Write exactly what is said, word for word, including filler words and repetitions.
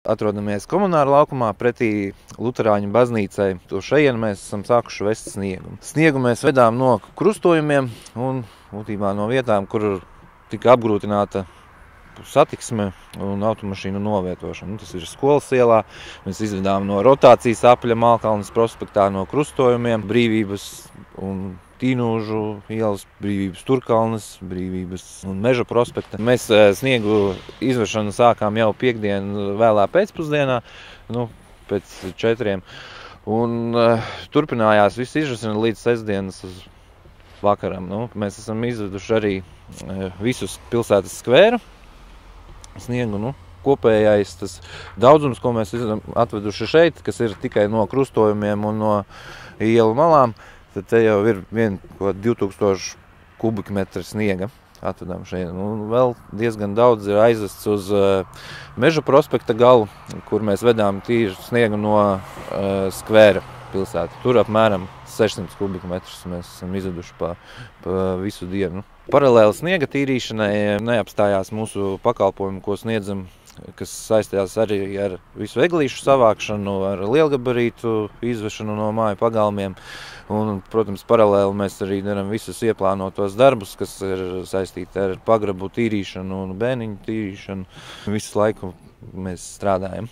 Atrodamies komunāra laukumā pretī Luterāņu baznīcai. To šejienu mēs esam sākuši vest sniegu. Sniegu mēs vedām no krustojumiem un būtībā no vietām, kur tika apgrūtināta satiksme un automašīnu novietošana. Tas ir skolas ielā. Mēs izvedām no rotācijas apļa Malkalnes prospektā no krustojumiem, Brīvības un Tīnūžu ielas, Brīvības Turkalnes, Brīvības un Meža prospekta. Mēs sniegu izvešanu sākām jau piekdien vēlā pēcpusdienā, nu, pēc četriem. Un uh, turpinājās viss izvešana līdz sestdienas vakaram. Nu, mēs esam izveduši arī uh, visus pilsētas skvēru sniegu. Nu, kopējais tas daudzums, ko mēs esam atveduši šeit, kas ir tikai no krustojumiem un no ielu malām, tad te jau ir vien divi tūkstoši kubikmetri sniega atvedām šeit. Un vēl diezgan daudz ir aizvests uz uh, Meža prospekta galu, kur mēs vedām tīru sniegu no uh, skvēra pilsēta. Tur apmēram sešsimt kubikmetrus mēs esam izveduši pa, pa visu dienu. Paralēli sniega tīrīšanai neapstājās mūsu pakalpojumi, ko sniedzam, kas saistījās arī ar visu eglīšu savākšanu, ar lielgabarītu izvešanu no māju pagalmiem. Un, protams, paralēli mēs arī darām visus ieplānotos darbus, kas ir saistīti ar pagrabu tīrīšanu un bēniņu tīrīšanu. Visu laiku mēs strādājam.